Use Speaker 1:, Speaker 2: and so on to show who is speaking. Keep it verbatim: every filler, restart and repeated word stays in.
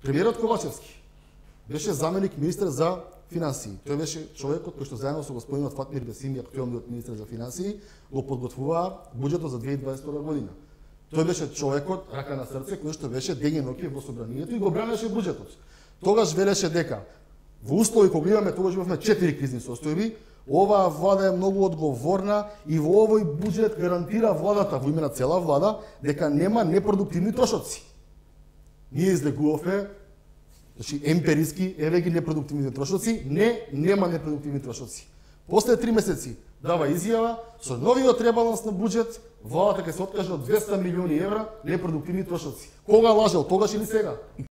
Speaker 1: Премиерот Ковачевски беше заменик министер за финансии. Тој беше човекот кој што заедно со господинот Фатмир Бесими, актуелниот министер за финансии, го подготвуваа буџетот за две илјади дваесет и втора година. Тој беше човекот, рака на срце, кој што беше ден и ноќе во собранието и го бранеше буџетот. Тогаш велеше дека во услови кога имаме, тогаш имавме четири кризни состојби, оваа влада е многу одговорна и во овој буџет гарантира владата, во име на цела влада, дека нема непродуктивни трошоци. Ние излегувавме, значи емпириски, еве ги непродуктивни трошоци, не, нема непродуктивни трошоци. После три месеци дава изјава, со новиот ребаланс на буџет, владата ќе се откаже од двесте милиони евра непродуктивни трошоци. Кога лажел, тогаш или сега?